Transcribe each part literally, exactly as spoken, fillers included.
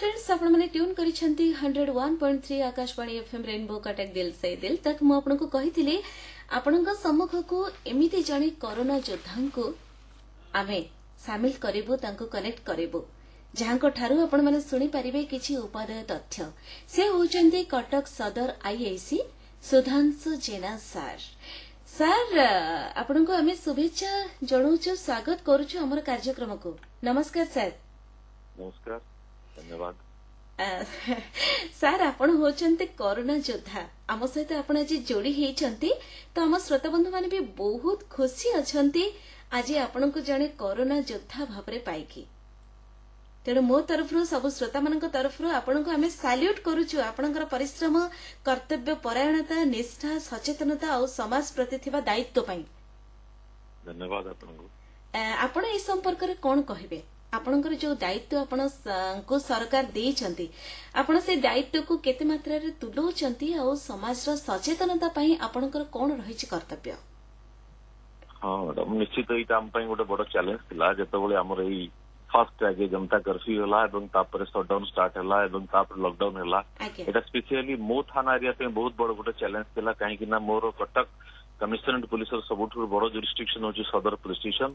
friends ଆପଣମାନେ tune କରିଛନ୍ତି hundred one point three Akashvani FM Rainbow Cuttack दिल से दिल तक ମୁଁ ଆପଣଙ୍କୁ କହିଥିଲି ଆପଣଙ୍କ ସମ୍ମୁଖକୁ ଏମିତି ଜଣେ କରୋନା ଯୋଦ୍ଧାଙ୍କୁ ଆମେ ସାମିଲ କରିବୁ ତାଙ୍କୁ କନେକ୍ଟ କରିବୁ ଯାହାଙ୍କ ଠାରୁ ଆପଣମାନେ ଶୁଣିପାରିବେ କିଛି ଉପାଦେୟ ତଥ୍ୟ ସେ ହେଉଛନ୍ତି କଟକ ସଦର IIC Sudhanshu Jena sir sir ଆପଣଙ୍କୁ ଆମେ ଶୁଭେଚ୍ଛା ଜଣାଉଛୁ ସ୍ୱାଗତ କରୁଛୁ ଆମର କାର୍ଯ୍ୟକ୍ରମକୁ ନମସ୍କାର ସାର୍ ନମସ୍କାର ଧନ୍ୟବାଦ ସାର୍ ଆପଣ ହେଉଛନ୍ତି କରୋନା ଯୋଦ୍ଧା ଆମ ସହିତ ଆପଣ ଆଜି ଯୋଡି ହେଇଛନ୍ତି ତ ଆମ ଶ୍ରୋତାବନ୍ଧୁମାନେ ବି ବହୁତ ଖୁସି ଅଛନ୍ତି ଆଜି ଆପଣଙ୍କୁ ଜଣେ କରୋନା ଯୋଦ୍ଧା ଭାବରେ ପାଇକି ତେଣୁ ମୋ ତରଫରୁ ସବୁ ଶ୍ରୋତାମାନଙ୍କ ତରଫରୁ ଆପଣଙ୍କୁ ଆମେ ସାଲ୍ୟୁଟ୍ କରୁଛୁ ଆପଣଙ୍କର ପରିଶ୍ରମ କର୍ତ୍ତବ୍ୟ ପରାୟଣତା ନିଷ୍ଠା ସଚେତନତା ଆଉ ସମାଜ ପ୍ରତି ଥିବା ଦାୟିତ୍ୱ ପାଇଁ ଧନ୍ୟବାଦ ଆପଣଙ୍କୁ ଆପଣ ଏ ସମ୍ପର୍କରେ କଣ କହିବେ ଆପଣଙ୍କର ଯୋଉ ଦାୟିତ୍ୱ ଆପଣଙ୍କୁ ସରକାର ଦେଇଛନ୍ତି ଆପଣ ସେ ଦାୟିତ୍ୱକୁ କେତେ ମାତ୍ରାରେ ତୁଲଉଛନ୍ତି ଆଉ ସମାଜର ସଚେତନତା ପାଇଁ ଆପଣଙ୍କର କଣ ରହିଛି କର୍ତ୍ତବ୍ୟ ହଁ ମ୍ୟାଡାମ ନିଶ୍ଚିତ ଏଇଟା ଆମ ପାଇଁ ଗୋଟେ ବଡ ଚ୍ୟାଲେଞ୍ଜ ଥିଲା ଯେତେବେଳେ ଆମର ଏଇ ଫାର୍ଷ୍ଟ ଆଗେ ଜନତା କର୍ଫ୍ୟୁ ହେଲା ଏବଂ ତାପରେ ସଟଡାଉନ ଷ୍ଟାର୍ଟ ହେଲା ଏବଂ ତାପରେ ଲକଡାଉନ ହେଲା ଏଇଟା ସ୍ପେସିଆଲି ମୋ ଥାନା ଏରିଆ ପାଇଁ ବହୁତ ବଡ ଗୋଟେ ଚ୍ୟାଲେଞ୍ଜ ଥିଲା କାହିଁକି ନା ମୋର କଟକ କମିଶନରେଟ ପୁଲିସର ସବୁଠୁ ବଡ ଜୁରିସଡିକ୍ସନ ହଉଛି ସଦର ପୁଲିସ ଷ୍ଟେସନ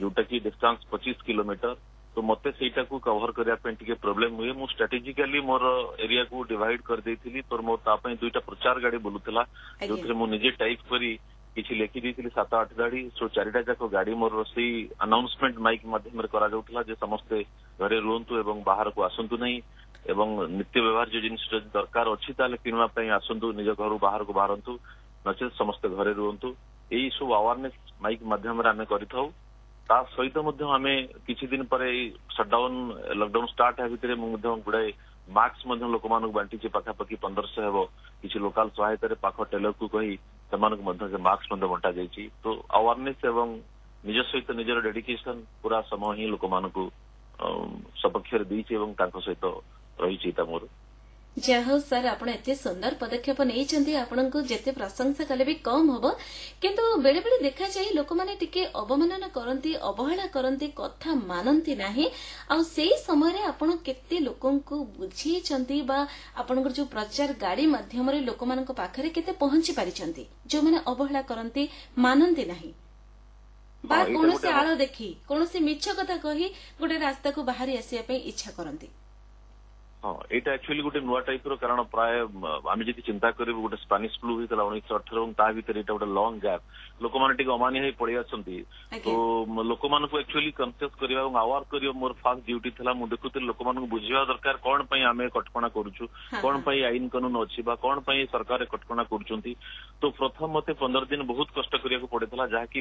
ଯୋଉଟା କି ଡିଷ୍ଟାନ୍ସ ପଚିଶ କିଲୋମିଟର ତ ମତେ ସେଇଟାକୁ କଭର କରିବା ପାଇଁ ଟିକେ ପ୍ରୋବ୍ଲେମ ହୁଏ ମୁଁ ଷ୍ଟ୍ରାଟେଜିକାଲି ମୋର ଏରିଆକୁ ଡିଭାଇଡ କରିଦେଇଥିଲି ତ ମୋର ତା ପାଇଁ ଦୁଇଟା ପ୍ରଚାର ଗାଡି ବୁଲୁଥିଲା ଯୋଉଥିରେ ମୁଁ ନିଜେ ଟାଇପ କରି କିଛି ଲେଖି ଦେଇଥିଲି ସାତ ଆଠ ଧାଡି ସୋ ଚାରିଟା ଯାକ ଗାଡି ମୋର ସେଇ ଆନାଉନ୍ସମେଣ୍ଟ ମାଇକ୍ ମାଧ୍ୟମରେ କରାଯାଉଥିଲା ଯେ ସମସ୍ତେ ଘରେ ରୁହନ୍ତୁ ଏବଂ ବାହାରକୁ ଆସନ୍ତୁ ନାହିଁ ଏବଂ ନିତ୍ୟ ବ୍ୟବହାର୍ଯ୍ୟ ଜିନିଷ ଯଦି ଦରକାର ଅଛି ତାହେଲେ କିଣିବା ପାଇଁ ଆସନ୍ତୁ ନିଜ ଘରୁ ବାହାରକୁ ବାହାରନ୍ତୁ ନଚେତ ସମସ୍ତେ ଘରେ ରୁହନ୍ତୁ ଏଇ ସବୁ ଆୱାରନେସ ମାଇକ୍ ମାଧ୍ୟମରେ ଆମେ କରିଥାଉ ତା ସହିତ ମଧ୍ୟ ଆମେ କିଛି ଦିନ ପରେ ଏଇ ସଟଡାଉନ ଲକଡାଉନ ଷ୍ଟାର୍ଟ ହେବା ଭିତରେ ମୁଁ ମଧ୍ୟ ଗୁଡାଏ ମାସ୍କ ମଧ୍ୟ ଲୋକମାନଙ୍କୁ ବାଣ୍ଟିଛି ପାଖାପାଖି ପନ୍ଦରଶହ ହେବ କିଛି ଲୋକାଲ ସହାୟତାରେ ପାଖ ଟେଲରକୁ କହି ସେମାନଙ୍କୁ ମଧ୍ୟ ସେ ମାସ୍କ ମଧ୍ୟ ବଣ୍ଟା ଯାଇଛି ତ ଆୱାରନେସ ଏବଂ ନିଜ ସହିତ ନିଜର ଡେଡିକେସନ ପୁରା ସମୟ ହିଁ ଲୋକମାନଙ୍କୁ ସପକ୍ଷରେ ଦେଇଛି ଏବଂ ତାଙ୍କ ସହିତ ରହିଛି ଏଇଟା ମୋର ଯାହା ହଉ ସାର୍ ଆପଣ ଏତେ ସୁନ୍ଦର ପଦକ୍ଷେପ ନେଇଛନ୍ତି ଆପଣଙ୍କୁ ଯେତେ ପ୍ରଶଂସା କଲେ ବି କମ୍ ହବ କିନ୍ତୁ ବେଳେବେଳେ ଦେଖାଯାଏ ଲୋକମାନେ ଟିକେ ଅବମାନନା କରନ୍ତି ଅବହେଳା କରନ୍ତି କଥା ମାନନ୍ତି ନାହିଁ ଆଉ ସେଇ ସମୟରେ ଆପଣ କେତେ ଲୋକଙ୍କୁ ବୁଝେଇଛନ୍ତି ବା ଆପଣଙ୍କର ଯୋଉ ପ୍ରଚାର ଗାଡି ମାଧ୍ୟମରେ ଲୋକମାନଙ୍କ ପାଖରେ କେତେ ପହଞ୍ଚି ପାରିଛନ୍ତି ଯୋଉମାନେ ଅବହେଳା କରନ୍ତି ମାନନ୍ତି ନାହିଁ ବା ହଁ, ଏଇଟା କୌଣସି ଗୋଟେ ଆଳ ଦେଖି କୌଣସି ମିଛ କଥା କହି ଗୋଟେ ରାସ୍ତାକୁ ବାହାରି ଆସିବା ପାଇଁ ଇଚ୍ଛା କରନ୍ତି ହଁ ଏଇଟା ଆକ୍ଚୁଆଲି ଗୋଟେ ନୂଆ ଟାଇପ ର କାରଣ ପ୍ରାୟ ଆମେ ଯଦି ଚିନ୍ତା କରିବୁ ଗୋଟେ ସ୍ପାନିଶ ଫ୍ଲୁ ହେଇଥିଲା ଉଣେଇଶହ ଅଠର ଏବଂ ତା ଭିତରେ ଏଇଟା ଗୋଟେ ଲଙ୍ଗ ଗ୍ୟାପ୍ ଲୋକମାନେ ଟିକେ ଅମାନି ହେଇ ପଳେଇ ଆସନ୍ତି ତ ଆଜ୍ଞା ଲୋକମାନଙ୍କୁ ଆକ୍ଚୁଆଲି କନସିୟସ କରିବା ଏବଂ ଆୱାର କରିବା ମୋର ଫାର୍ଷ୍ଟ ଡ୍ୟୁଟି ଥିଲା ମୁଁ ଦେଖୁଥିଲି ଲୋକମାନଙ୍କୁ ବୁଝିବା ଦରକାର କଣ ପାଇଁ ଆମେ କଟକଣା କରୁଛୁ ହଁ କଣ ହଁ ପାଇଁ ଆଇନ କାନୁନ ଅଛି ବା କଣ ପାଇଁ ସରକାର କଟକଣା କରୁଛନ୍ତି ତ ପ୍ରଥମ ମତେ ପନ୍ଦର ଦିନ ବହୁତ କଷ୍ଟ କରିବାକୁ ପଡିଥିଲା ଯାହାକି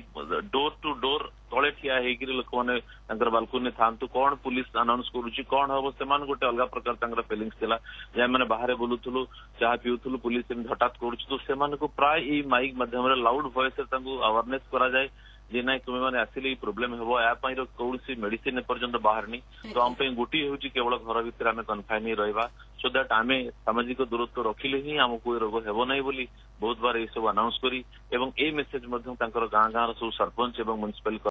ଡୋର ଟୁ ଡୋର ତଳେ ଠିଆ ହେଇକିରି ଲୋକମାନେ ତାଙ୍କର ବାଲକୁନିରେ ଥାଆନ୍ତୁ କଣ ପୁଲିସ ଆନାଉନ୍ସ କରୁଛି କଣ ହବ ସେମାନେ ଗୋଟେ ଅଲଗା ପ୍ରକାର ତାଙ୍କର ଫିଲିଙ୍ଗସ ଥିଲା ଯେ ଆମେ ବାହାରେ ବୁଲୁଥିଲୁ ଚାହା ପିଉଥିଲୁ ପୁଲିସ ଏମିତି ହଠାତ୍ କରୁଛି ତ ସେମାନଙ୍କୁ ପ୍ରାୟ ଏଇ ମାଇକ୍ ମାଧ୍ୟମରେ ଲାଉଡ ଭଏସରେ ତାଙ୍କୁ ଆୱାରନେସ କରାଯାଏ ଯେ ନାଇଁ ତୁମେ ମାନେ ଆସିଲେ ଏଇ ପ୍ରୋବ୍ଲେମ ହେବ ଏହା ପାଇଁ କୌଣସି ମେଡିସିନ ଏପର୍ଯ୍ୟନ୍ତ ବାହାରିନି ତ ଆମ ଆଜ୍ଞା ପାଇଁ ଗୋଟିଏ ହେଉଛି କେବଳ ଘର ଭିତରେ ଆମେ କନଫାଇନ ହେଇ ରହିବା ସୋ that ଆମେ ସାମାଜିକ ଦୂରତ୍ୱ ରଖିଲେ ହିଁ ଆମକୁ ଏ ରୋଗ ହେବ ନାହିଁ ବୋଲି ବହୁତ ବାର ଏଇ ସବୁ ଆନାଉନ୍ସ କରି ଏବଂ ଏଇ ମେସେଜ ମଧ୍ୟ ତାଙ୍କର ଗାଁ ଗାଁର ସବୁ ସରପଞ୍ଚ ଏବଂ ମ୍ୟୁନିସିପାଲ